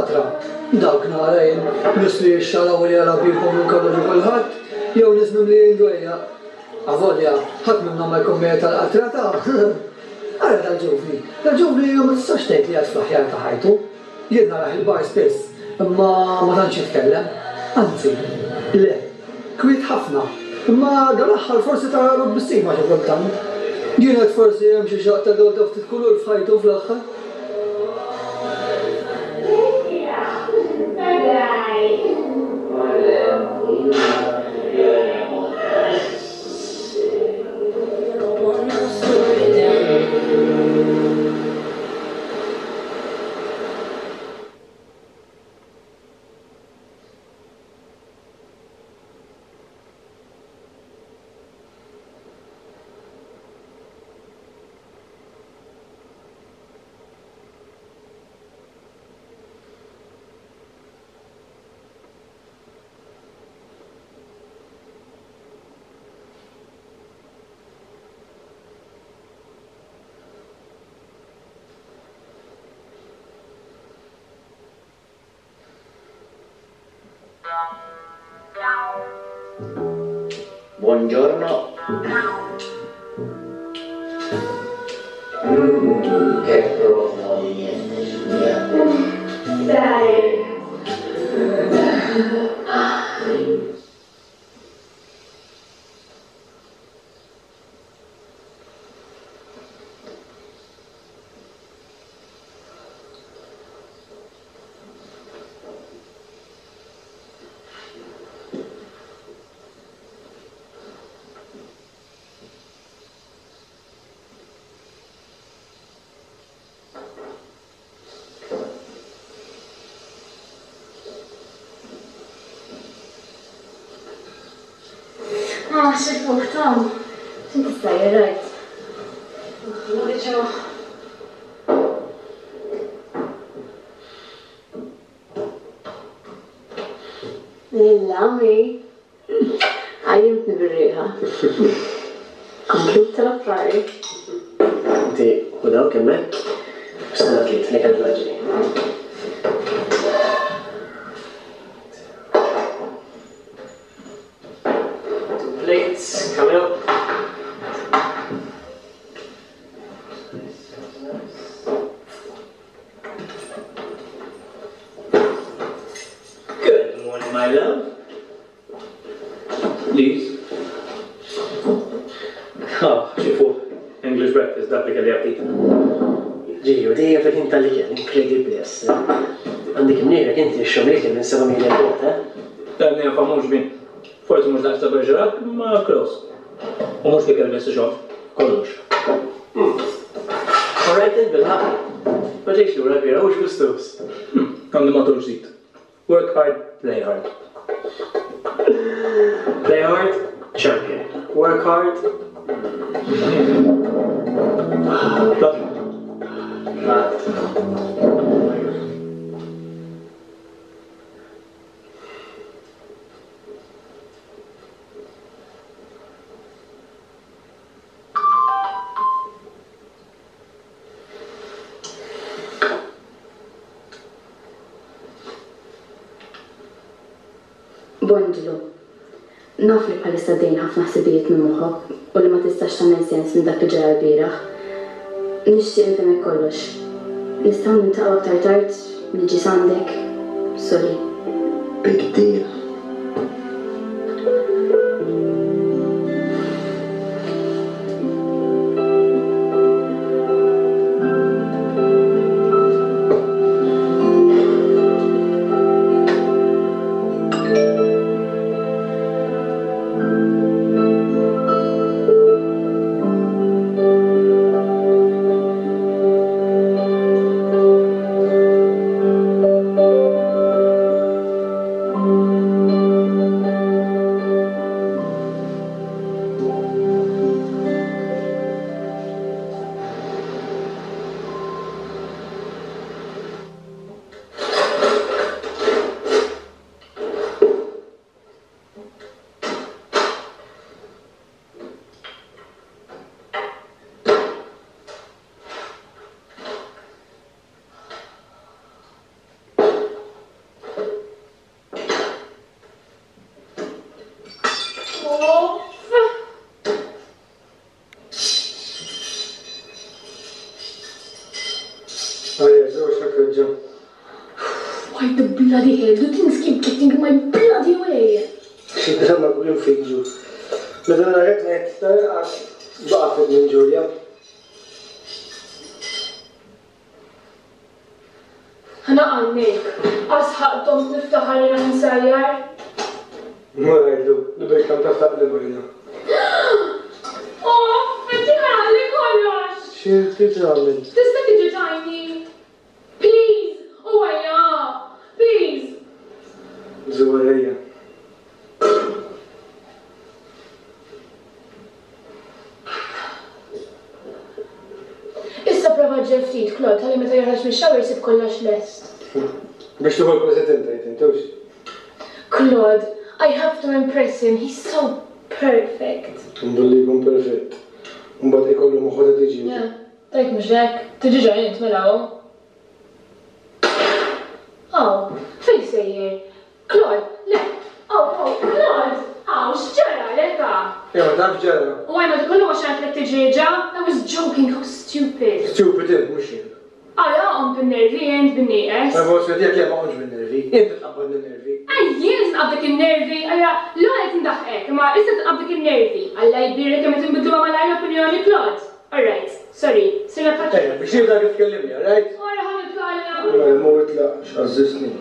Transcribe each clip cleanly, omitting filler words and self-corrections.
tal-qatra. Dawk nara jien, nies li jixxalaw u li jara bihom minn kollox u kulħadd, jew nies mimlijin dwejjaq. Avolja, ħadd minnhom ma jkun mejjet tal-qatra ta'. Ara dal-ġuvni. Dal-ġuvni ma tistax tgħid li qiegħed fl-aħjar ta' ħajtu. Jien narah il-bar spiss, imma ma tantx jitkellem. Anzi, le. Kwiet ħafna. Imma dal-aħħar forsi taralu tbissima xi kultant. Jien għedt forsi hemm xi xaqq ta' dawl ta' ftit kulur f'ħajtu fl-aħħar. Buongiorno. Mm, che profumo di niente, Giulia. Dai. Ah, xi fuq Tom. X'inti sejjer rajt? Ġuħ. Lil-lami. Għajjimtni bir-riħa. Komplut tal-affari. Inti ħu dawk hemmhekk u stenna ftit li kellu ġej. Two plates coming up. Good morning, my love. Please. Ah, xifu, English breakfast, dak li kelli aptit. Ġiju, dejjem fil-ħin tal-ikel, inkredibbli essa. Għandek imnieħrek inti xxomm l-ikel minn 7 mili 'l bogħod, eh? Dan jafa mhux bin. Forsi mhux daqs ta' Bergerac, imma close. U mhux l-ikel biss ixomm, kollox. All right then, bilħaqq. Ma ġejtx lura l-bieraħ, hux gustuż. Għandi motto ġdid. Work hard, play hard. Play hard, champion. Work hard. Lat. Bonġlu. Naf li bħalissa għaddejjin ħafna ħsibijiet minn moħħok u li ma tistax tagħmel sens minn dak li ġara lbieraħ. Nixtieq nfehmek kollox. Nistgħu niltaqgħu aktar tard? Niġi s'għandek? Sorry. Big deal. tweġġa'. Why the bloody hell do things keep getting in my bloody way? Xi drama queen fik Ġu. Meta narak ngħid tal-inqas baqa' ftit minn Ġulja. Ħa naqannik, għas ħaqq domt niftaħar li naf insajjar. Mur għidlu li bil-kemm taf taqli bajda. Off, qed jinħaraqli kollox! Xi trid tagħmel? Tista' tiġi tgħinni? Please! U ejja! Please! Żgur ejja. Issa prova ġġel ftit, Claude, ħalli meta joħroġ mix-shower jsib kollox lest. Biex tieħu l-President tgħid int, hux? Claude, I have to impress him, he's so perfect. Billi jkun perfett. Imbagħad ikollu moħħu ta' tiġieġa. Tgħid mhux hekk? Tiġieġa int mela hu. Aw, fejn sejjer? Claude, le! Aw, aw, Claude! Aw, x'ġaralek ah? Ejwa, taf x'ġara? U għajma dak kollu għax għedtlek tiġieġa? I was joking, how stupid! Stupid int, mhux jien. Ara, qomt bin-nervi int, bin-nieqes. L-evoluzzjoni tiegħek le ma qontx bin-nervi. Int tqabbadni n-nervi. Aj, jien qed nqabbdek in-nervi? Allura, l-ewwel qed indaħħqek, imma issa qed nqabbdek in-nervi. Alla jbierek kemm qed inbiddluha malajr l-opinjoni, Claude! All right, sorry, sirna bħal. Ejja, biex nibda kif tkellimni, all right? Ora ħa nitlaq alla. Mela, mur itlaq, x'għażżiżtni.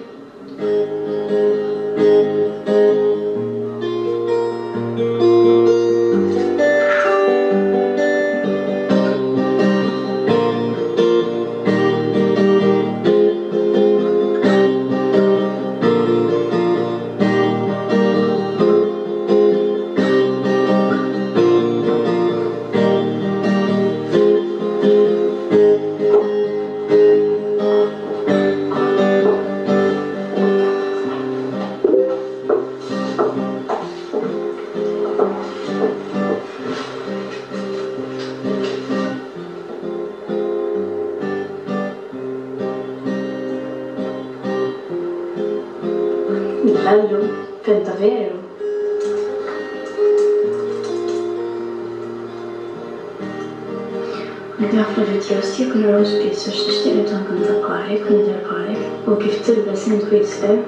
Bellu, fenta veru. Għandi ħafna videos tiegħek u narahom spiss għax nixtieq nibda nkanta bħalek u nidher bħalek u kif tilbes int Whistler.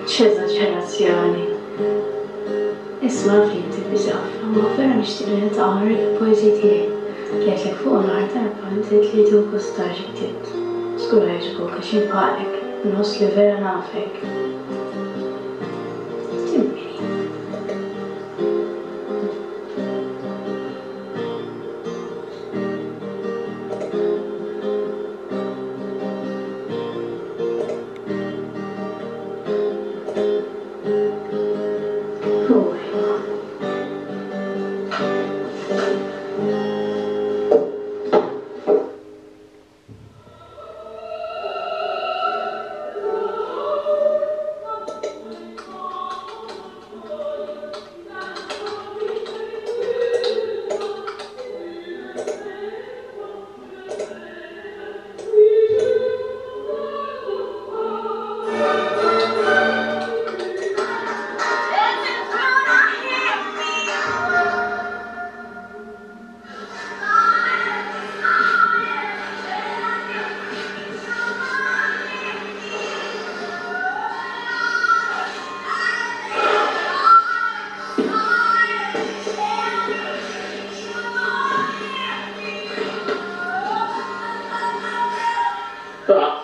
X'eżaġerazzjoni! Isma' naf li inti busy ħafna imma vera nixtieq li niltaqa' u nurik il-poeżiji tiegħi li għedtlek fuqhom l-aħħar darba inti għidt li tieħu gost tara xi ktibt. Żgur ħa jogħġbuk għax jien bħalek, inħoss li vera nafek. Din min hi?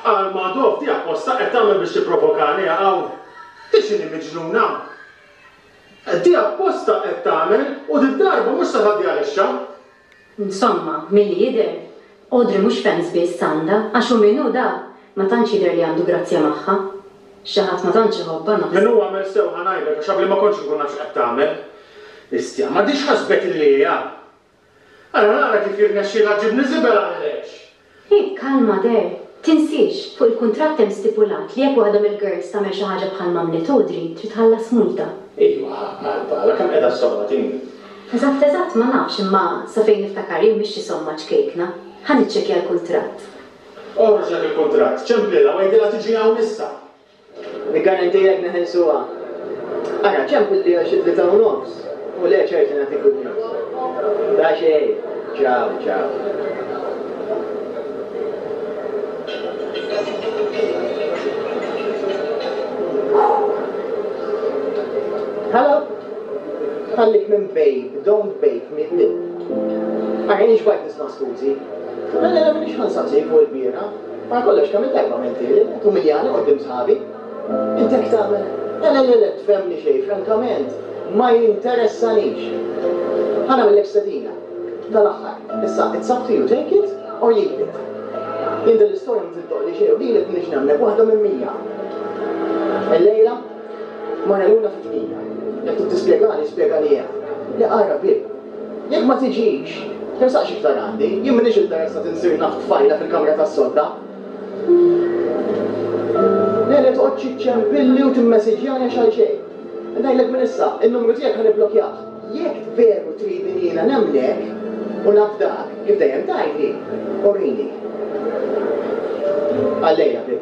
Għal Madoff di apposta qed tagħmel biex tipprovokani hawn. Di x'inhi miġnuna? Di apposta qed tagħmel u did-darba mhux se tgħaddi għalixxa. Insomma, milli jidher, Audrey mhux fans biss għandha, għax hu min hu da, ma tantx jidher li għandu grazzja magħha. Xi ħadd ma tantx iħobbha naħseb. Min hu għamel sew ħa ngħidlek għax qabli ma kontx inkun naf x'qed tagħmel. Istja, ma di x'ħasbet illi hija? Ara nara kif jirnexxielha ġġibni żibel għal-lex. Hi, kalma Der. Tinsiex, fuq il-kuntratt hemm stipulat li jekk waħda mill-girls tagħmel xi ħaġa bħalma għamlet Audrey, trid tħallas multa. Iwa, għal-bala, kemm qiegħda s-somma din? Eżatt eżatt ma nafx imma sa fejn niftakar jien mhix xi somma ċkejkna. Ħa niċċekkja l-kuntratt. Oħroġ dak il-kuntratt, ċemplilha u għidilha tiġi hawn issa. Niggarantilek neħilsuha. Ara, ċempilli għal xi 3:30 u le ċert li nagħtik good news. Ta' xejn. Ciao, ciao. Ħallik minn babe, don't bake me lip. Ara jien xbajt nisma' skużi. Le le le m'iniex ħa nsaqsik fuq il-bieraħ. Wara kollox kemm-il darba għamilthieli, qed tumiljani quddiem sħabi. Int hekk tagħmel? Le le le le tfhemni xejn, frankament ma jinteressanix. Ħa nagħmillek stedina. Tal-aħħar. Issa, it's up to you, take it or leave it. Jien din l-istorja ma tiddoqli xejn u lilek m'iniex nemmnek waħda minn 100. Illejla? Marja Luna fit-tmija. Jekk trid tispjegali, spjegali hemm. Le ara bieb. Jekk ma tiġix, tersaqx iktar għandi. Jien m'iniex interessat insir naf tfajla fil-kamra tas-sodda. Le le toqgħodx iċċempilli u timmesiġjani għax għalxejn. Ngħidlek minn issa, in-numru tiegħek ħa nibblokjah. Jekk veru tridni li jiena nemmnek u nafdak, kif dejjem tgħidli, urini. Għal-lejla, ħbieb.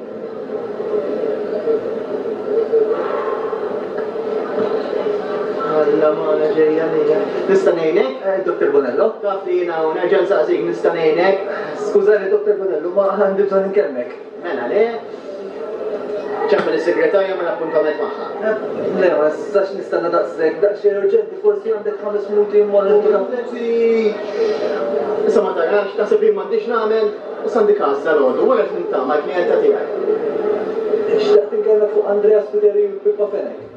Alla magħna ġejja lejla. Nista' ngħinek? Eh, Dr. Bonello? Taf li jiena hawn, nerġa' nsaqsik, nista' ngħinek? Skużani, Dr. Bonello, ma għandi bżonn inkellmek. Mela le. Ċempel is-segretarja mela appuntament magħha. Le, ma nistax nistenna daqshekk, daqsxejn urġenti, forsi għandek ħames minuti mmorru nieħdu Issa ma tarax, taħseb li m'għandix nagħmel? Issa għandi każ dalgħodu, wara qed niltaqa' mal-klijenta tiegħi. Xtaqt inkellmek fuq Andrea Spiteri u Pippa Fenech.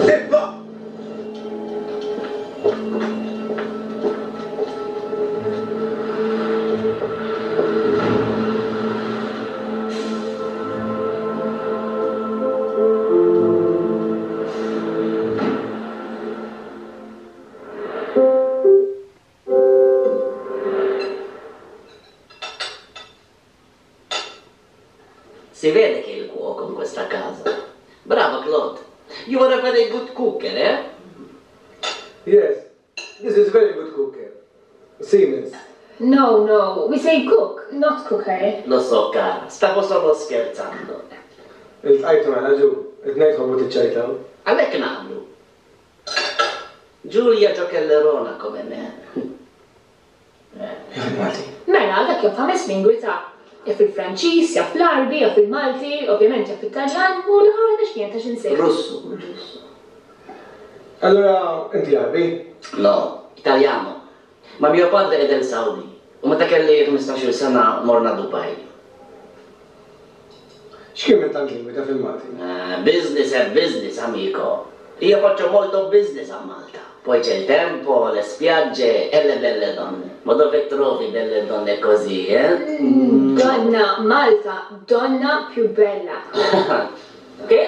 Pippa! Si vede che è il cuoco in questa casa. Brava Claude. You are a very good cooker, eh? Yes, this is very good cooker. Siemens. No, no, we say cook, not cooker. Lo so, cara, stavo solo scherzando. Iltqajtu mela Ġu, it-tnejn tħobbu tiċċajtaw. Għalhekk naqblu. Giulia giocherellona come me. Jaf il-Malti. Mela, dak jaf ħames lingwi ta'. Jaf il-Franċiż, jaf l-Għarbi, jaf il-Malti, ovvjament jaf it-Taljan u l-aħħar waħda x'kienet għax insejt. Russu, Russu. Allura inti Għarbi? No, Italjano. Ma mio padre è del Saudi u meta kelli 15-il sena morna Dubai. X'kien minn tant lingwi taf il-Malti? Business è business, amico. Io faccio molto business a Malta. Poi c'è il tempo, le spiagge e le belle donne. Ma dove trovi belle donne così, eh? Donna Malta, donna più bella. Che?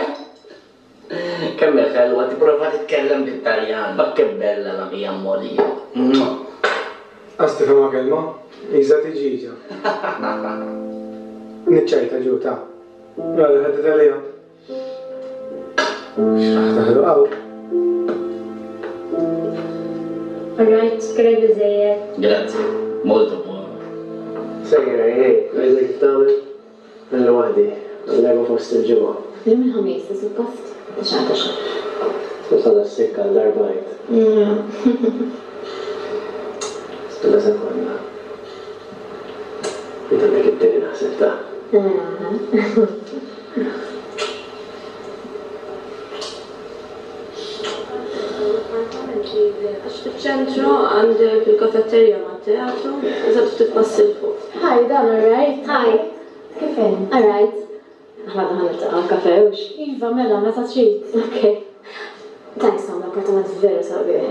Kemm hi ħelwa tipprova titkellem bit-Taljan, ma che bella la mia Molly. Qas tifhimha kelma, qisha tiġieġa. Niċċajta ġu ta. Mela ħedet għaliha. X'raħ taħlu hawn. Alright, kellek biżżejjed. Grazie, molto buono. Sejra, ej, għidli kif tagħmel? Nagħmlu waħdi, nilagħbu fost il-ġimgħa. Illum il-Ħamis, ta' suppost? Ta' xahar ta' xahar. Suppost għadha s-sikka għal darba għidt. Stenna sekonda. Int għandek it-tieni naħseb ta'. Għax fiċ-ċentru għandek il-kafetterja mat-teatru, eżatt ftit passi 'l fuq. Hi, Dan, alright? Hi, kif int? Alright. Aħna għadna ħa niltaqgħu għal kafè, hux? Iva, mela, meta trid. Ok. Thanks Tom, l-appartament vera sabiħ.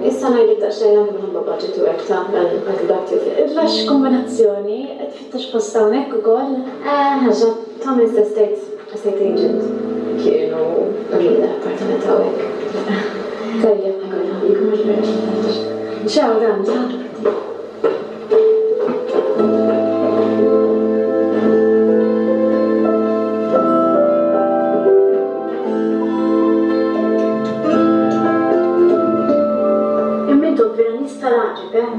Issa ngħidlek daqsxejn anke minħabba budget u hekk ta' I'll get back to you. Illa x'kombinazzjoni, qed tfittex post hawnhekk ukoll? Eh, ħaġa, Tom is estate estate agent. Kienu uruni l-appartament hawnhekk. Tajjeb, ħa nħallikom għax vera xi Ciao Dan, ciao. Imma intom vera nies tal-għaġeb, eh?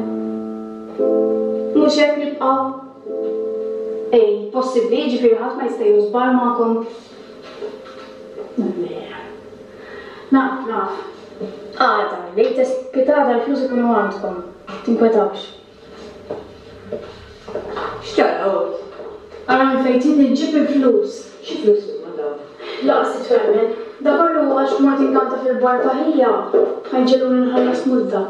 Mhux hekk nibqgħu? Ej, possibbli, jiġifieri ħadd ma jista' jieħu żball magħkom? Vera. Naf, naf. Għada, latest pitgħada l-flus ikunu għandkom. Tinkwetawx. X'tara Odd? Ara minn fejn tridni nġib il-flus. Xi flus huma dawn? Lanqas titwemmen. Da kollu għax mort inkanta fil-bar ta' ħija, ħa jġegħluni nħallas multa.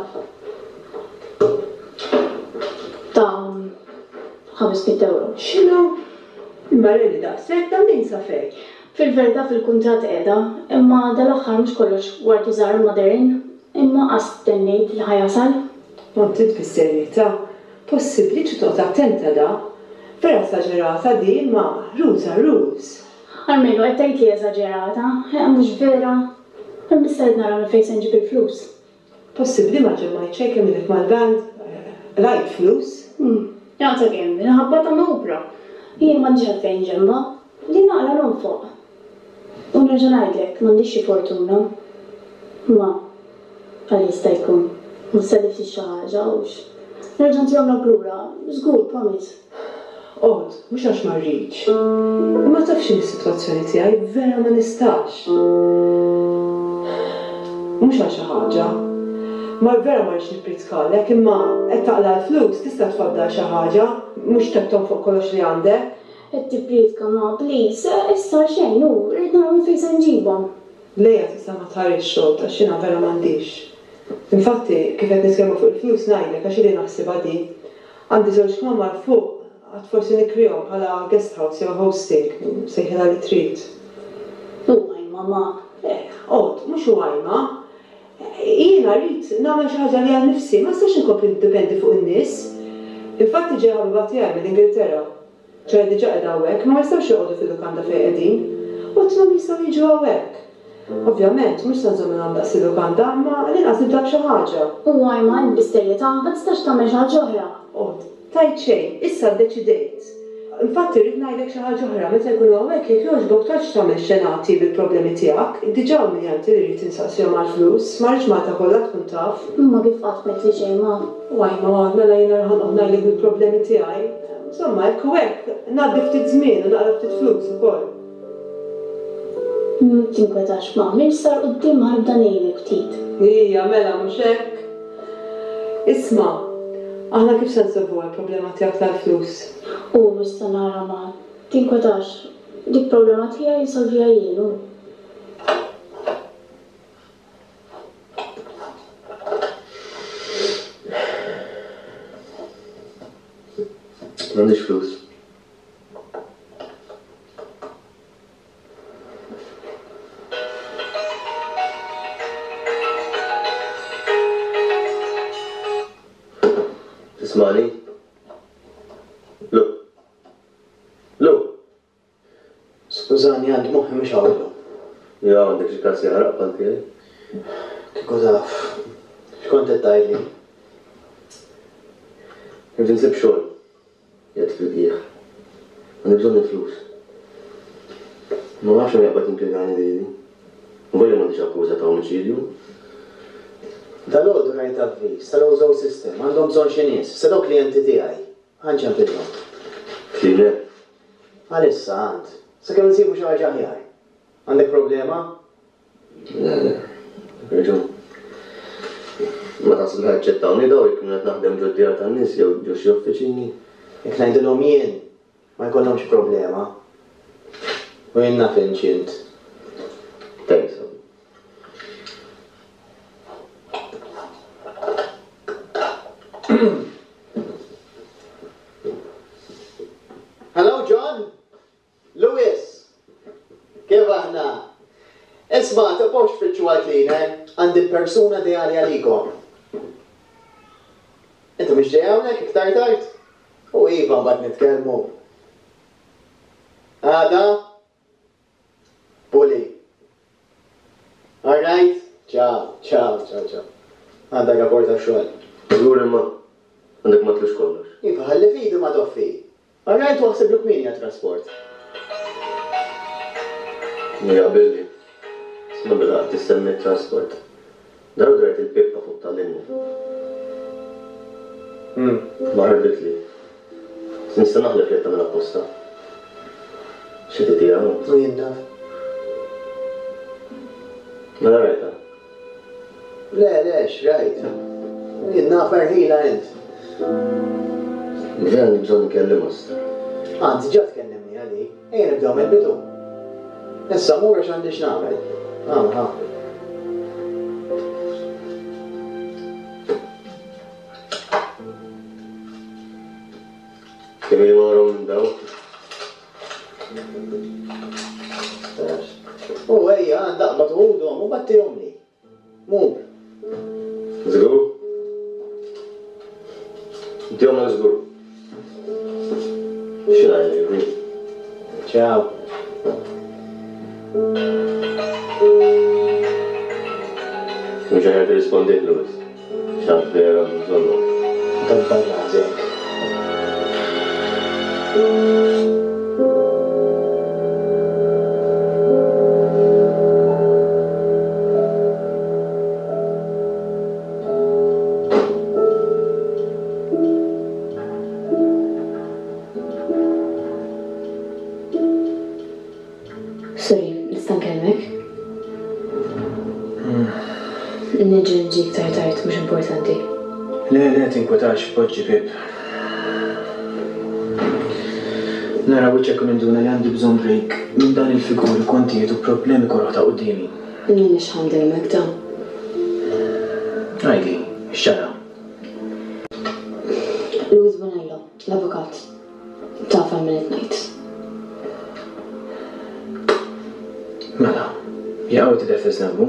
Ta' 500 ewro. X'inhu? Imma really daqshekk? Ta' min sa fejn? Fil-verità fil-kuntratt qiegħda, imma dal-aħħar mhux kollox ward u żahar ma' Darren, imma qas stennejt li ħa jasal. Kont int bis-serjetà? Possibbli trid toqgħod attenta da. Vera esaġerata di imma rules are rules. Almenu qed tgħid li esaġerata, eħ mhux vera? Imma issa rrid nara minn fejn se nġib il-flus. Possibbli ma ġemmajt xejn kemm ilek mal-band? Qlajt flus? Jaqta' kemm, minħabba ta' Oprah. Jien m'għandix għalfejn nġemma'. Li naqla' nonfoq. U nerġa' ngħidlek, m'għandix xi fortuna. Ma, għal jista' jkun, ma ssellifx xi ħaġa, hux? Nerġa' ntihomlok lura, żgur, promise. Odd, mhux għax ma rridx. Imma taf x'inhi s-sitwazzjoni tiegħi, vera ma nistax. Mhux għal xi ħaġa. Ma vera ma rridx nipprietkalek, imma qed taqla' l-flus, tista' tfaddal xi ħaġa, mhux qed tonfoq kollox li għandek. Qed tipprietka ma, please, issa xejn, hu, rrid nara minn fejn se nġibhom. Lejha tista' ma tħarisx Odd, għax jiena vera m'għandix. Infatti, kif qed nitkellmu fuq il-flus ngħidlek għax ili naħsibha di. Għandi żewġ kmamar fuq, għad forsi nikrihom bħala guest house jew hosting, sejħilha li trid. U għajma ma. Eh, Odd, mhux u għajma. Jiena rrid nagħmel xi ħaġa għalija nnifsi, ma nistax inkompli niddependi fuq in-nies. Infatti ġejja ħabiba tiegħi mill-Ingilterra. Ċoe diġà qiegħda hawnhekk, imma ma jistgħux joqogħdu fil-lukanda fejn qegħdin. U għedtilhom jistgħu jiġu hawnhekk. Ovvjament, mhux se nżommilhom daqs il-lukanda, imma għall-inqas nibda b'xi ħaġa. U Ajma, int bis-serjetà, ma tistax tagħmel xi ħaġa oħra? Għod, tgħid xejn, issa ddeċidejt. Infatti rrid ngħidlek xi ħaġa oħra, meta jkunu hawnhekk jekk jogħġbok toqgħodx tagħmel xenati bil-problemi tiegħek. Diġà umiljanti li rrid insaqsihom għall-flus, ma rridx Malta kollha tkun taf. Imma kif qatt m'għedtli xejn, ma? U Ajma, mela jiena ħa noqgħod ngħidlek bil-problemi tiegħi? Insomma, hekk u hekk, ngħaddi ftit żmien u naqla' ftit flus ukoll. Tinkwetax ma, minn x'sar quddiem ħa nibda ngħinek ftit. Ija, mela mhux hekk? Isma', aħna kif se nsolvuha l-problema tiegħek tal-flus? U issa nara ma, tinkwetax, dik problema tiegħi nsolviha jien, u. M'għandix flus. Tismani? Lu. Lu. Skużani għand moħħi mhux hawn illum. Ja għandek xi każ jaħraq bħal tiegħi? Kieku taf. X'kont qed tgħidli? Irrid insib xogħol. Qiegħed fil-qiegħ. Għandi bżonn il-flus. Ma nafx min jaqbad jimpjegani lili. Volja m'għandix akkuża ta' omiċidju. Dalgħodu rajt avviż tal-Ozone System, għandhom bżonn xi nies, se daw klijenti tiegħi. Ħa nċempilhom. Cleaner? Għalissa, għand. Sakemm insibu xi ħaġa aħjar. Għandek problema? Le, le. Għandek raġun. Ma taħseb li ħa jaċċettawni daw jekk nkun qed naħdem ġod-djar tan-nies jew ġo xi uffiċini? Jekk ngħidilhom jien, ma jkollhomx problema. U jien naf int x'int. Thanks, Abby. Hello, John! Louis! Kif aħna? Isma', tibqgħux tfittxu għal cleaner, għandi l-persuna ideali għalikom. Inti mhux ġej hawnhekk iktar tard? U iva mbagħad nitkellmu. Għada? Puli. All right? Ciao, ciao, ciao, ciao. Għandek rapport tax-xogħol. Żgur imma għandek ma tlux kollox. Iva, ħalli f'idi ma toffi. All right, u aħsiblu kmieni għat-trasport. Jaqbilli. Isma' mela qed issemmi t-trasport. Dalgħodu rajt il-pippa fuq tal-linja. Ma ħarbitli. Nista' naħlef li qed tagħmel apposta. Xi titiha hawn? U jien naf. Mela rajtha. Le, le, x'rajt. Jien naf erħilha int. Vera għandi bżonn nkellimha issa. Anzi, ġa tkellimni għalik. Ejja nibdew mill-bidu. Issa mur għax għandi x'nagħmel. Hawn, ha. Kemm ili ma narahom minn dawn. U ejja, għandha aqbad u ħudhom u battihomli. Mur. Żgur? Intihomlek żgur. Xi ngħidlek, Vin? Ciao. Mhux aħjar tirrispondih Louis. X'għad vera għandu bżonnok. Dabbar rasek. Sorry, nista' nkellmek? Niġi nġi iktar tard, mhux importanti. Le, le, tinkwetax, poġġi Pip. Nara wiċċek u ninduna li għandi bżonn break minn dan il-figuri, kontijiet u problemi koroh ta' quddiemi. M'iniex ħa ndejmek ta. Għidli, x'ġara? Louis Bonello, l-avukat. Taf għal min qed ngħid. Mela, jaqaw tidher fi żnambu?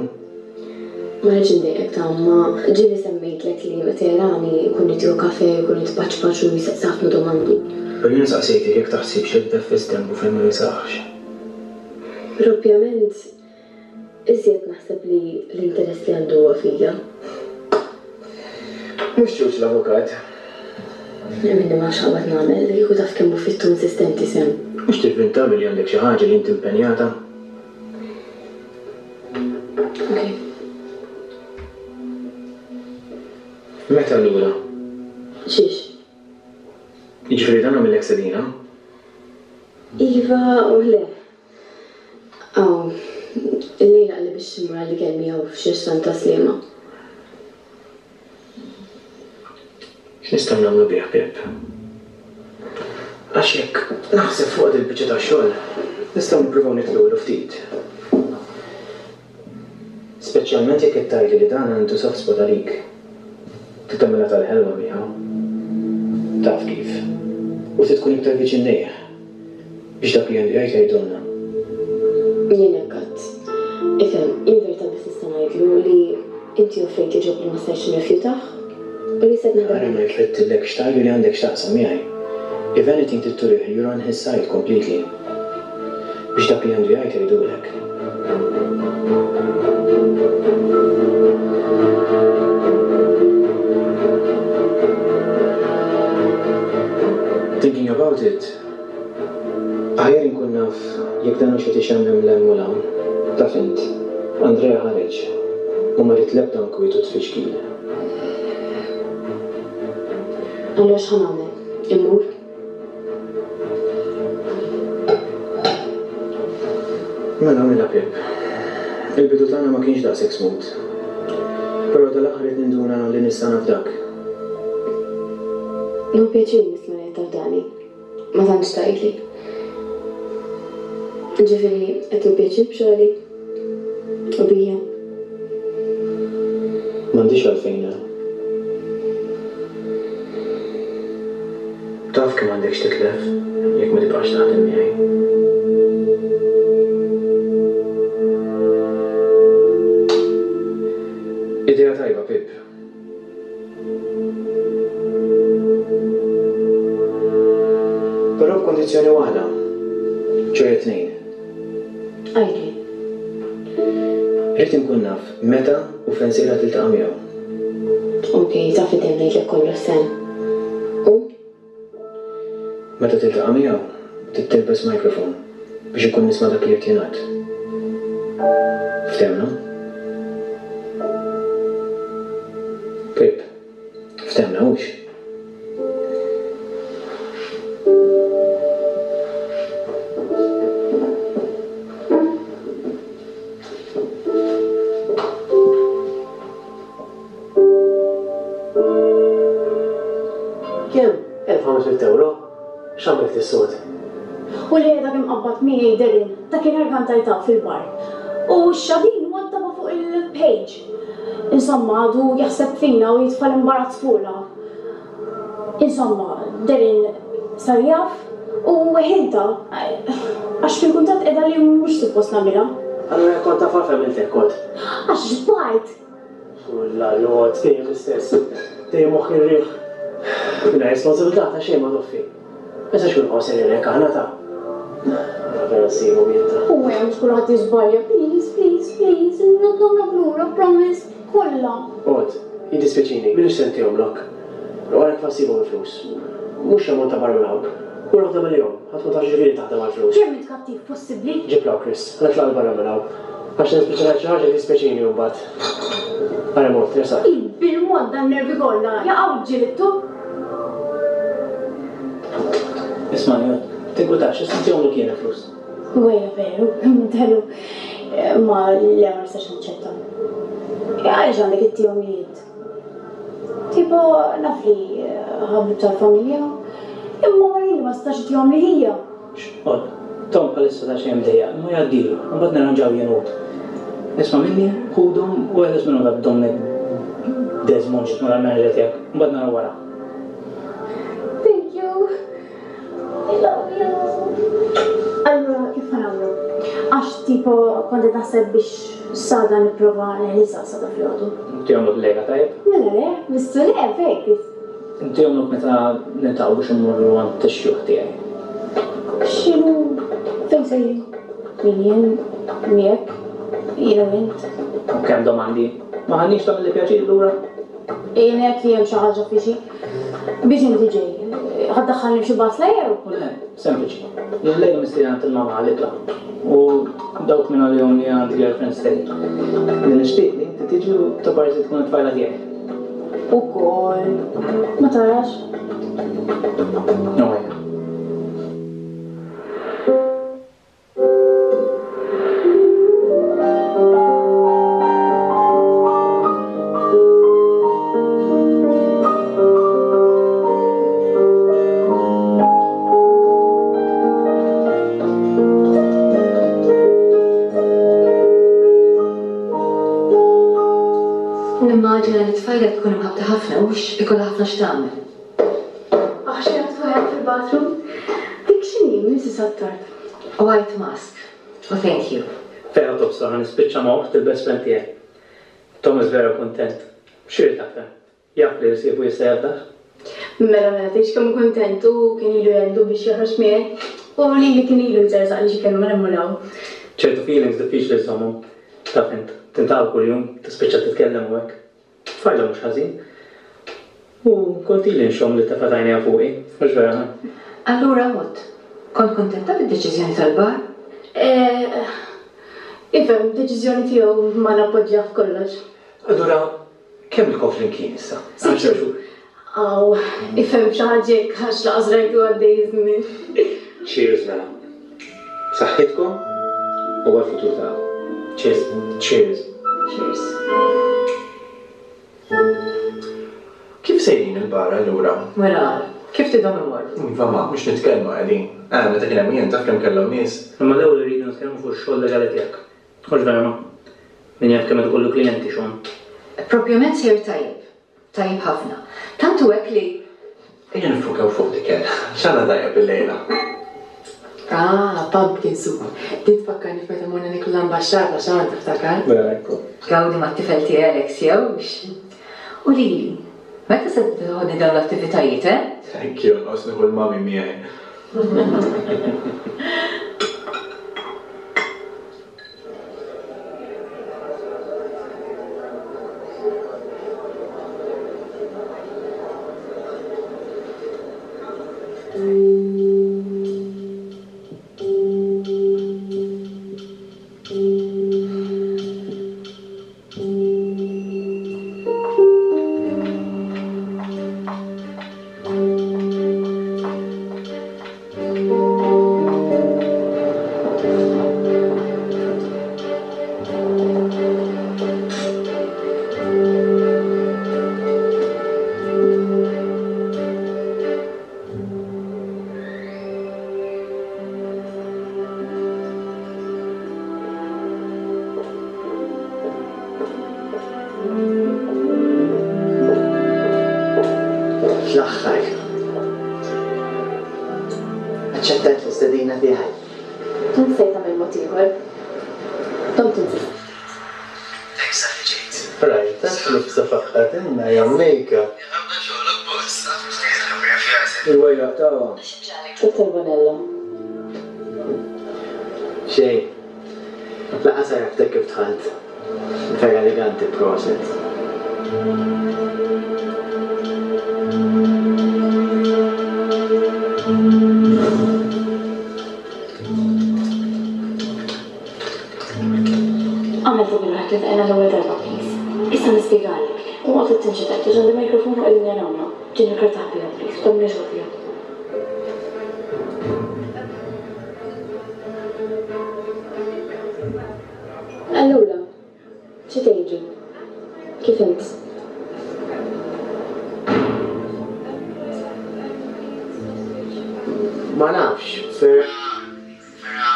Ma rridx indejqek ta' imma ġieli semmejtlek li meta jarani jkun irid jieħu kafè, jkun irid paċpaċ u jsaqsi ħafna domandi. Però jien saqsejtek jekk taħsibx li tidher fi żdenbu fejn ma jinsaqx. Propjament Iżjed naħseb li l-interess li għandu huwa fija. Mhux ċuċ l-avukat. Minni ma nafx x'qabad nagħmel, kieku taf kemm hu fitt u insistenti Sam. Mhux tivvinta billi għandek xi ħaġa li inti impenjata? Ok. Meta allura? Xiex? Jiġifieri dan għamillek sedina? Iva u le. Aw, illejla qalli biex immur għall-ikel miegħu f'xi ristorant ta' Sliema. X'nistgħu nagħmlu bih, Pip? Għax jekk naħseb fuq dil-biċċa ta' xogħol, nistgħu nippruvaw nitlulu ftit. Speċjalment jekk qed tgħidli li dan għandu soft spot għalik. Trid tagħmilha tal-ħelwa miegħu. Taf kif. U trid tkun iktar viċin lejh. Biex dak li għandu jgħid jgħidulna. Jien hekk għedt. Ifhem, jien verità biss nista' ngħidlu li inti offrejtli job li ma stajtx nirrifjutah u li issa qed naħdem Ara ma għalik. jfettillekx tgħidlu li għandek x'taqsam miegħi. If anything trid turih li you're on his side completely. Biex dak li għandu jgħid jgħidulek. Thinking about it, aħjar inkun naf jekk dan hux qed ixemmem 'l hemm u 'l hawn. Taf int, Andrea ħareġ u ma ried l-ebda nkwiet u tfixkil. Allura x'ħa nagħmel? Immur? Mela mela Pip. Il-bidu tagħna ma kienx daqshekk smooth. Però dal-aħħar qed ninduna li nista' nafdak. Nieħu pjaċir nisma' li qed tafdani. Ma tantx tgħidli. Ġifieri qed tieħu pjaċir b'xogħli? U bija? M'għandix għalfejn le. Taf kemm għandek x'titlef jekk ma tibqax taħdem miegħi. Idea tajba, Pip. Però b'kundizzjoni waħda, ċoe tnejn. Għidli. Rrid inkun naf meta u fejn sejra tiltaqa' miegħu. Ok, taf li dejjem ngħidlek kollox Sam. U? Meta tiltaqa' miegħu, trid tilbes microphone biex inkun nisma' dak li qed jingħad. Ftehmna? Pip, ftehmna hux? Kemm? 1500 ewro? X'għamilt is-sod? U li dak imqabbad miegħi Darren, dakinhar kantajtha fil-bar. U x-xadin waddabha fuq il-page. Insomma, għadu jaħseb fina u jitfa' l-imbarazz fuqna. Insomma, Darren sar jaf u weħiltha għax fil-kuntratt qiegħda li mhux suppost nagħmilha. Allura jekk kont taf għalfejn għamilt hekk kont? Għax xbajt! Kulla jgħod dejjem l-istess. Dejjem moħħ ir-riħ. Mingħajr responsabilità ta' xejn ma toffi. Ma nistax nibqgħu sejrin hekk aħna ta'. Ara vera ssibhom jien ta'. U hemm mhux kulħadd jiżbalja, please, please, please, nagħmlok lura, promise, kollha. Għod, jiddispjaċini, m'iniex se ntihomlok. U għalhekk fa ssibhom il-flus. Mhux xi ammont ta' barra minn hawn. Mur aħdem għalihom, ħa tkun taf x'ġifieri taħdem għall-flus. Kemm int kattiv possibbli? Ġib 'l hawn Chris, ħa nitlaq 'l barra minn hawn. Għax nispiċċa ngħid xi ħaġa li jdispjaċini mbagħad. Ara mort, resaq. Bil-mod dan-nervi kollha jaqgħu ġilidtu. Ismagħni, Għod, tinkwetax, issa ntihomlok jien il-flus. Wejja veru, kemm int ħelu. Imma le ma nistax naċċetta. Għaliex għandek ittihom li int? Tipo naf li ħabib tal-familja, imma wara li ma setax itihom li hija. X'qod, Tom bħalissa daqsxejn mdejjaq, imma jgħaddilu, imbagħad nirranġaw jien u hu. Isma' minni, ħudhom u eħles minnhom dak Dominic Desmond x'ismu dal-manager tiegħek, imbagħad naraw wara. Thank you. I love you. Allura kif ħa nagħmlu? Għax tipo kont qed naħseb biex s'għada nipprova neħlisha s'għada filgħodu. Ntihomlok illejla tajjeb? Mela le, missu le, fejn Chris? Ntihomlok meta niltaqgħu biex immorru għand ix-xjuħ tiegħi. X'inhu? Fejn sejrin? Min jien? Miegħek? Jiena u int? U kemm domandi? Ma ħadniex tagħmilli pjaċir lura? Jien hekk li hemm xi ħaġa f'ixi. Biex inti ġej? Ħa ddaħħalni f'xi basla jew? U le, sempliċi. Jien llejla mistieden għand il-mamà għal ikla. U dawk minn għalihom li għandi girlfriend stay. Li nixtieq li inti tiġi u taparsi tkun it-tfajla tiegħi. Ukoll. Ma tarax? No way. Nimmaġina li tfajla tkun imħabbta ħafna hux ikollha ħafna x'tagħmel. Aħ xi tfajla fil-bathroom. Dik x'inhi Mrs Attard? White mask. U thank you. Vera tobsor ħa nispiċċa ma' oħt il-best friend tiegħi. Thomas vera kuntent. X'irid aktar? Jaf li rsiebu jista' jafdah. Mela mela tgħidx kemm hu kuntent hu kien ilu jgħidu biex joħroġ miegħi u lili kien ilu jżerżaqli xi kelma 'l hemm u 'l hawn. Ċertu feelings diffiċli żżommhom. Taf int, tintaqa' kuljum, tispiċċa titkellem u hekk. Tfajla mhux ħażin. U kont ili nxomm li tefgħet għajnejha fuqi, mhux vera ħa? Allura Mott, kont kuntenta bid-deċiżjoni tal-bar? Eh, ifhem, deċiżjoni tiegħu ma nappoġġjah f'kollox. Allura kemm ilkom flimkien issa? Għal xi xhur? Aw, ifhem xi ħaġa hekk għax laqas rajtu għaddej iż-żmien. Cheers mela. B'saħħitkom u għall-futur tagħkom. Cheers. Cheers. Cheers. Kif sejrin il-bar allura? Mela, kif tidhom imorru? Iva ma, mhux nitkellmu qegħdin. Eh, meta kien hemm jien taf kemm kellhom nies. Imma l-ewwel irridu nitkellmu fuq ix-xogħol legali tiegħek. Mhux vera ma? Min jaf kemm qed ikollu klijenti Sean. Propjament sejjer tajjeb. Tajjeb ħafna. Tant hu hekk li. Ejja niffukaw fuq l-ikel. X'għandna tajjeb illejla? Ah, pumpkin soup. Din tfakkarni f'meta morna niklu l-ambaxxata, Sean, tiftakar? Mela ekku. Gawdi mat-tifel tiegħi Alex, jewx? U lili, meta se tibda toħodni dawn l-attivitajiet, eh? Thank you, nqos nieħu l-mummy miegħi. Fl-aħħar. Aċċettajt l-istedina tiegħi. Int se tagħmel mod ieħor. Domt tinsisti ftit. Thanks talli ġejt. Rajtha x'libsa faqqgħetilna Jamaica. Il-wejjaq tagħha. Dottor Bonello. Xejn. Lanqas għaraftek kif dħalt. Vera eleganti proset. Agħmel ta' bilruħek li tqajna l-ewwel darba please. Issa nispjegalek. U oqgħod tinċident għax għandi microphone u qegħdin jarawna. Ġieli ikrar taħbiha please, tagħmilhiex ovvja. Allura, xi tgħidli? Kif int? Ma nafx, vera. Vera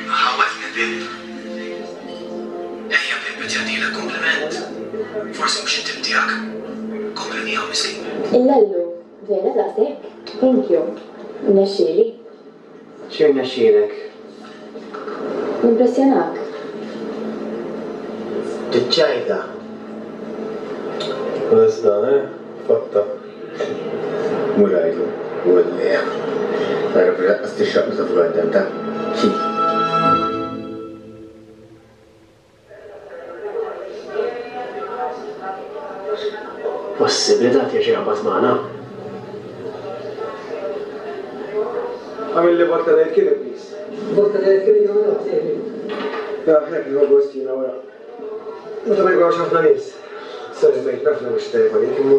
ħawwadtni Pip. Ejja Pip qed jagħtilek kumpliment. Forsi mhux it-tip tiegħek. Kompli miegħu miskin. Illellu, vera daqshekk? Thank you. Rnexxieli. X'irnexxielek? Nimpressjonak. Tiċċajta. Lest dan, eh? Fatta. Mur għidlu, u le. Tara biex laqqas tixraq meta fuq għaddem ta' xi. Possibbli dak jerġa' jaqbad magħna? Għamilli vodka daiquiri, please. Vodka daiquiri jew le, sejri. Aħna kien gost jiena wara. Meta ma jkunx ħafna nies. Sorry mate, naf li mhux tajjeb għalik imma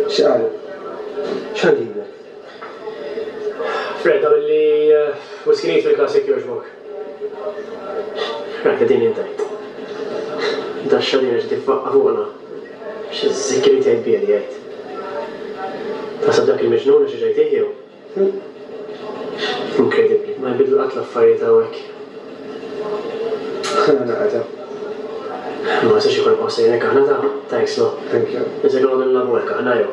x'qal? X'għandilek? Fred, għamilli whisky neat fil-klass jekk jogħġbok. Rajt din intajt. Daxxa din reġgħet tifaqqa' fuqna. Xi żikri tgħid biha di għid. Taħseb dak il-miġnun għax reġa' jtih jew? Inkredibbli, ma jinbidlu qatt l-affarijiet hawnhekk. Naqata. Ma nistax ikun nibqgħu sejrin hekk aħna ta'. Thanks no. Thank you. Iżda noqogħdu nilagħbu hekk aħna jew?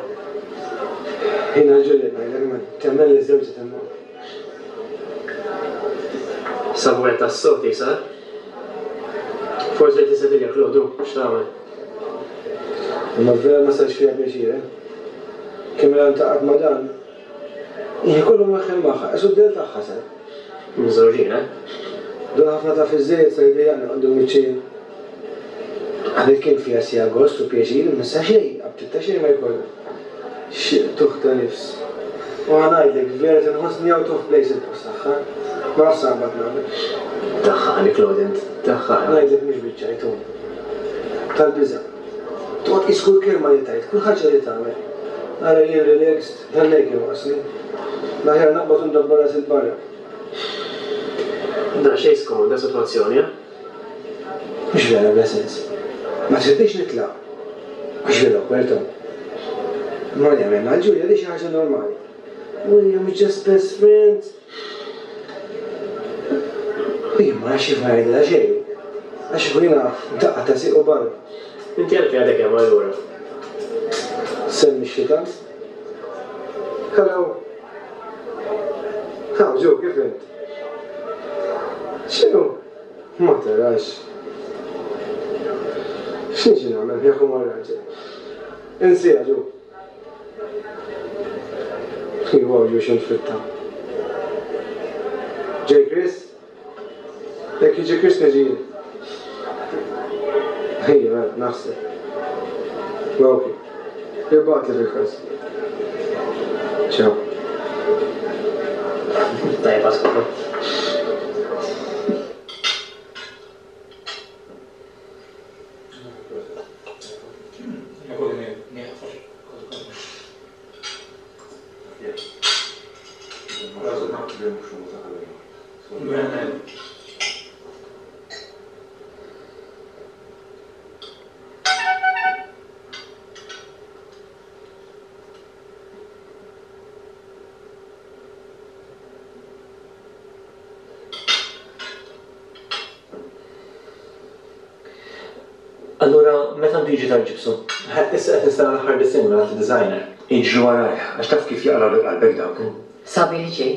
Jiena Juliet ngħidlek man, temmen li żewġi temmen. Sabu wieħed tas-sod jisar. Forsi qed tissetilja Claude hu, x'tagħmel? Imma vera ma sarx fiha pjaċir, eh? Kemm ilha ntaqgħet ma' dan, Hi kollu mweħħel magħha, qisu d-dell tagħha sar. Miżżewġin, eh? Dan ħafna taf iż-żejjed sar idejjaqni quddiem wiċċi jien. Qabel kien fiha siegħa gost u pjaċir, imma issa xejn, aptit ta' xejn ma jkollha. Xi qtugħ ta' nifs. U ħa ngħidlek, vera tinħossni out of place il-post tagħha. Ma nafx sa nqbad nagħmel. Daħħaqni Claude int, daħħaqni. Ngħidlek mhux biċ-ċajt, hu. Tal-biża'. Toqgħod tqis kull kelma li tgħid, kull ħaġa li tagħmel. Ara jien relaxed. Dan hekk jonqosni. L-aħjar naqbad u ndabbar rasi 'l barra. Daqsxejn skomda sitwazzjoni, eh? Mhux vera bla sens. Ma tridnix nitlaq. Mhux vera awkward hawn. Imma li għamilna għal Julia di xi ħaġa normali. William is just best friends. U jien ma nafx kif ma ngħidilha xejn. Għax kieku jiena daqqa ta' sieq u barra. Inti għalfejn għadek hemm allura? Semmi x-xitan. Hello. Hawn Joe, kif int? X'inhu? Ma tarax. X'niġi nagħmel miegħek u mar-raġel? Insiha Joe. Iwa Joe x'int fritta. Ġej Chris? Jekk jiġi Chris niġi jien. Ejja, mela, naħseb. Ok. Ibgħatli fil-każ. Ciao. Tajba skopru. Allura, meta għandu jiġi tal-ġibsu? Issa qed nistenna l-aħħar disinn mingħand id-designer. Iġri warajh, għax taf kif jaqlgħulek qalbek dawk. Sabiħ ġej.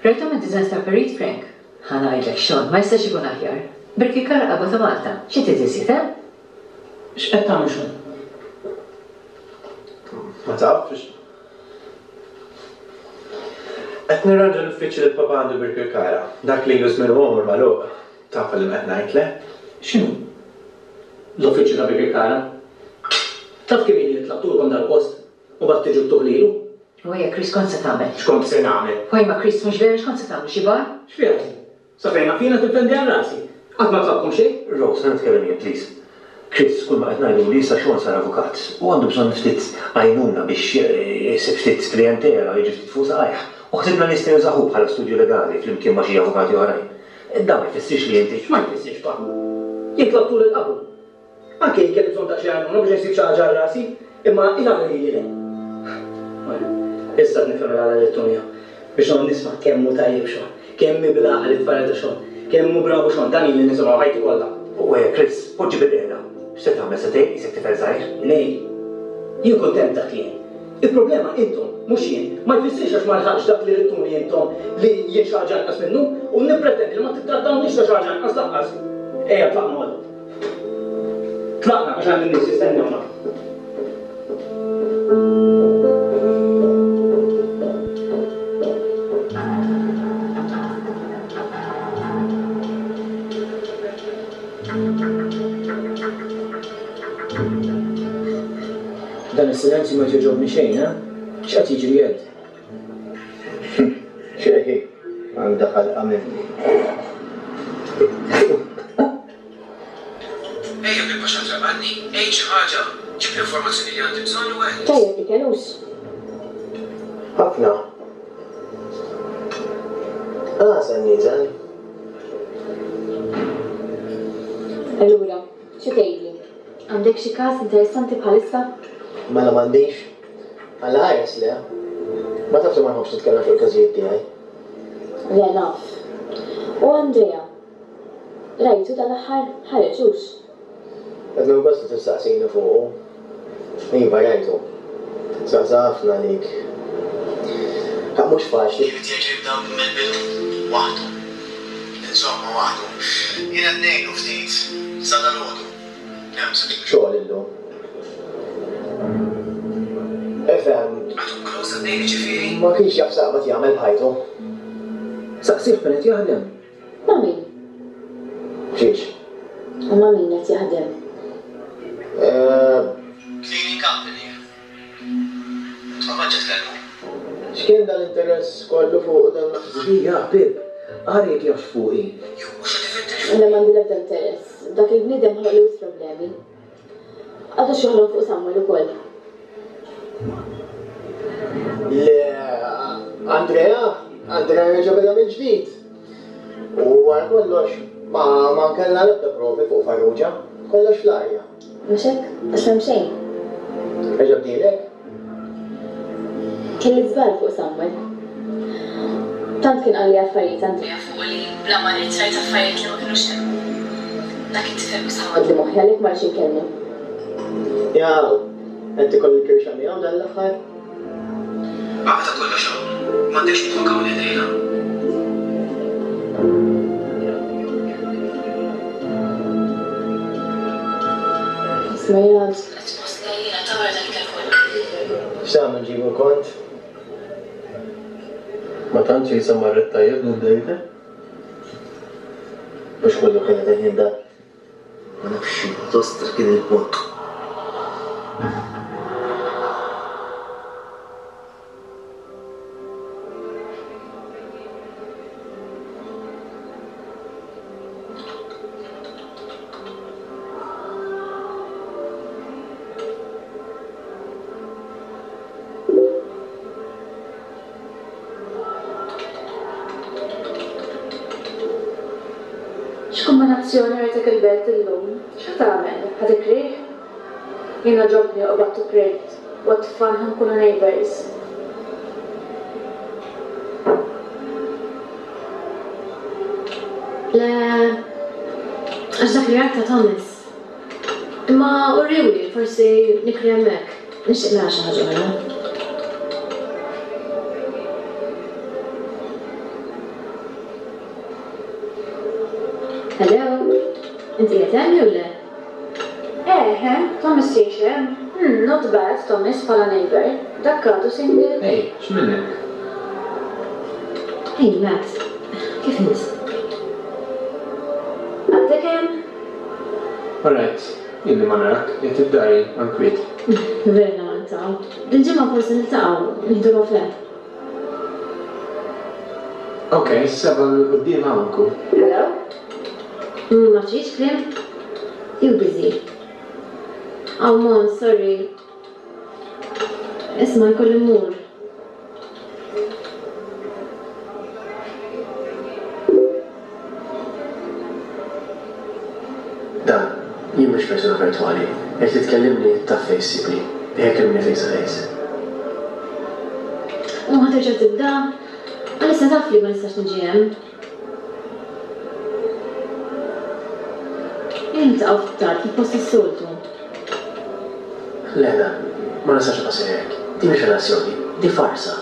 Rajthom id-designs ta' Perit Frank? Ħa ngħidlek Sean, ma jistax ikun aħjar. Birkirkara qabha ta' Malta, xi trid iżjed, eh? X'qed tagħmel Sean? Ma tafx. Qed nirranġa l-uffiċċju li l-papà għandu Birkirkara. Dak li ilu żmien u għomor magħluq. Taf għal liema qed ngħid, le? X'inhu? L-uffiċċju ta' Birkirkara? Taf kemm ili li tlabtulkom dal-post u mbagħad tiġu ttuh lilu? U ejja Chris x'kont se tagħmel? X'kont se nagħmel? U imma Chris mhux vera x'kont se tagħmlu xi bar? X'fiha din? Sa fejn naf jiena tinfendi għal rasi. Qatt ma tlabtkom xejn? Rose, ħa nitkellem jien please. Chris, kull ma qed ngħidu hu li issa Sean sar avukat u għandu bżonn ftit għajnuna biex isib ftit klijentela u jiġi ftit fuq saqajh. U ħsibna li jista' jużah hu bħala studju legali flimkien ma' xi avukati oħrajn. Dan ma jfissirx li inti. X'ma jfissirx, pa? Jien tlabtu lil qablu. Anke jien kelli bżonn daqsxejn għajnuna biex insib xi ħaġa għal rasi, imma il-għala lili le. Mela, issa qed nifhem il-għala li Tonio, biex noqgħod nisma' kemm hu tajjeb Sean, kemm hi bil-għaqal it-tfajla ta' Sean, kemm hu bravu Sean, dan ili nisimgħu ħajti kollha. U ejja Chris, poġġi bilqiegħda. X'se tagħmel, se tgħin qisek tifel żgħir? Ngħin? Jien kuntent b'dak li jien. Il-problema intom, mhux jien. Ma jfissirx għax ma lħaqtx dak li ridtuni intom li jien xi ħaġa inqas minnu, u nippretendi li ma tittrattawniex ta' xi ħaġa inqas lanqas. Ejja tlaqna Odd. Tlaqna għax hemm in-nies jistennewna. Dan is-silenzju ma jogħġobni xejn, eh? X'qed jiġri Ed? Xejn, għandha ħalqa minni. Ejja Pippa x'għad raqadni, għid xi ħaġa, ġib l-informazzjoni li għandi bżonn u eħles. Tajjeb ikel hux? Ħafna. Għasel nieżel. Allura, xi tgħidli? Għandek xi każ interessanti bħalissa? Mela m'għandix. Alla ħares le. Ma tafx li ma nħobbx nitkellem fuq il-każijiet tiegħi. Le naf. U Andrea? Rajtu dal-aħħar? Ħareġ hux? Qed nieħu gost li tistaqsini fuqu. Iva rajtu. Saqsa ħafna għalik. Ħaqq mhux faċli. Irid jerġa' jibda mill-bidu. Waħdu. Insomma waħdu. Jien qed ngħinu ftit. Sa dalgħodu. Hemm se. Xogħol illum. Ifhem. Għadhom close għaddejjin jiġifieri? Ma kienx jaf x'aqbad jagħmel b'ħajtu. Saqsih fejn qed jaħdem. Ma' min? Fiex? U ma' min qed jaħdem? Cleaning company. Ma kontx qed tkellmu. X'kien dal-interess kollu fuqu dan l-aħħar? Ija, Pip, ara jekk jafx fuqi. Jew mhux qed ifittex. Le m'għandi l-ebda interess. Dak il-bniedem ħloqli wisq problemi. Għadu x'joħlom fuq Samuel ukoll. Le, Andrea, Andrea reġa' beda mill-ġdid. U wara kollox, ma ma kellna l-ebda provi fuq Farrugia. Kollox fl-arja. Mhux hekk? Għax m'hemm xejn. Reġa' bdielek? Kelli żball fuq Samuel. Tant kien qalli affarijiet Andrea fuqu li bla ma ridt rajt affarijiet li ma kinux hemm. Dak it-tifel mhux ħawadli moħħi għalhekk ma rridx inkellmu. Jaw, qed tiekol il-kirxa miegħu dan l-aħħar? Għada kollox hawn. M'għandekx nitfgħu hawn illejla. Isma' jiena qed inħossni għajjiena ta' wara dal-ikel kollu. X'tagħmel nġibu l-kont? Ma tantx qisha marret tajjeb din id-dejta. Mhux kollu kienet il-ħin da. Ma nafx xi tostra kien il-punt. X'kumbinazzjoni rajtek il-belt illum? X'ħa tagħmel? Ħa tikrih? Jien għoġobni u qbadt u krejt. What fun ħa nkunu neighbours. Le, għax dak li rajt ta' Thomas. Imma urriwli, forsi nikri hemmhekk. Nixtieq nara xi ħaġa oħra. Hello? Inti qiegħed hemm jew le? Eħe, Thomas jgħix hemm. Hmm, not bad, Thomas bħala neighbour. Dak għadu single? Ej, x'minnek? Hey Matt, kif int? Għadek hemm? Alright, ilni ma narak, qiegħed id-dar jien, hawn kwiet. Vera niltaqgħu. Dil-ġimgħa forsi niltaqgħu, nieħdu kafè. Ok, is-sebgħa 'l quddiem hawn inkun. Hello? Ma tridx kliem? You busy. Aw Mon, sorry. Isma' jkolli mmur. Dan, jien mhux persuna virtwali. Jekk trid tkellimni, taf fejn issibni. Ejja kellimni face to face. U ħa terġa' tibda? Għalissa taf li ma nistax niġi hemm. Ejja niltaqgħu ftit tard fil-post tas-soltu. Le, Dan, ma nistax nibqa' sejjer hekk. Din mhix relazzjoni, di farsa.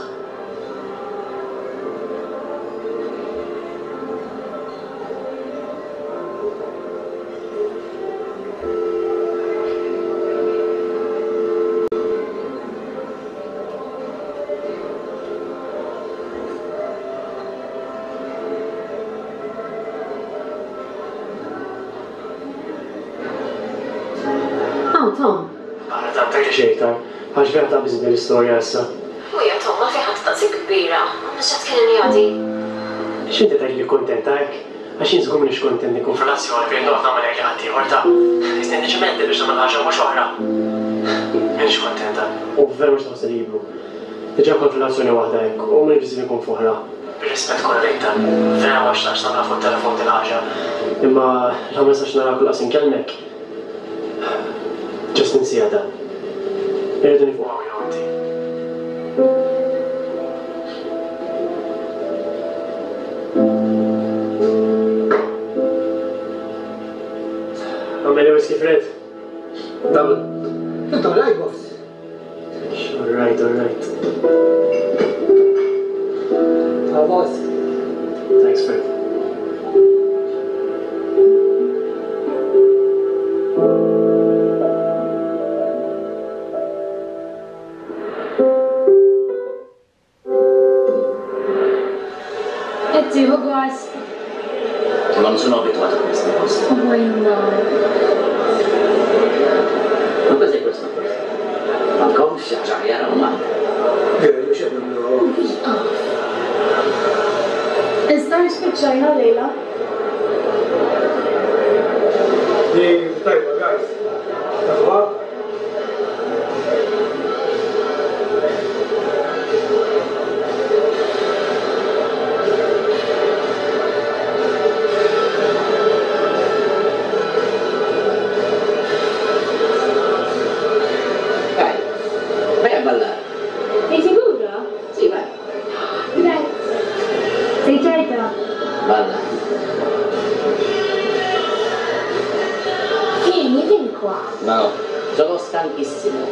Hawn Tom. Ara tant tgħidli xejn iktar, għax vera taqbiżitni l-istorja issa. Ħuja Tom, għalfejn ħadt daqshekk kbira? Mhux qed tkellimni għadi. X'inti tgħidli li kuntenta hekk? Għax jien żgur m'iniex kuntent inkun f'relazzjoni fejn noqgħod nagħmel hekk li ħaddieħor ta. Qisni niġi mhedded biex nagħmel ħaġa u mhux oħra. M'iniex kuntenta u vera mhux nħossni libru. Diġà kont f'relazzjoni waħda hekk u m'iniex biżżejjed inkun f'oħra. Bir-rispett kollu lejk Dan, vera ma xtaqtx nagħmilha fuq it-telefon dil-ħaġa. Imma la ma nistax narak u lanqas inkellmek, just insiha Dan. Irridu nieqfu hawn jien u inti. Agħmel whisky Fred. Double. Int alright, boss? All right, all right. Ta' boss. Thanks, Fred. Qed tieħu gost? Non sono abituato a questi posti. U imma. Ma cos'è questo posto? M'għandkomx xi ħaġa aħjar hawn Malta? Veru, x'qed nagħmlu hawn? Wieqaf. Iżda spiċċajna llejla. Di tajba, guys. Tafuha? Vai, vai a ballare. Sei sicuro? Sì, vai. Grazie. Sei certa? Balla. Vieni, vieni qua. No, sono stanchissimo.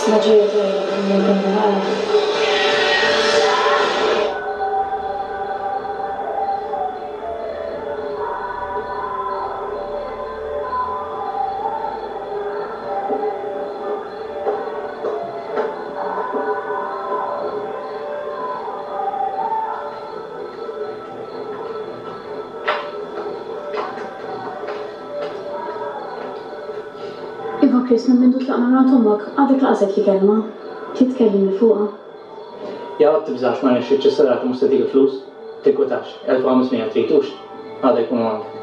Ma ġejja tajjeb minn bil-għala. Iva Chris, minn mindu tlaqna minn għand ommok, għadek lanqas għedtli kelma. Trid tkellimni fuqha? Jaqgħod tibżax ma rnexxitx is-serata mhux se tik il-flus. Tinkwetax, 1500 trid hux? Għada jkunu għandek.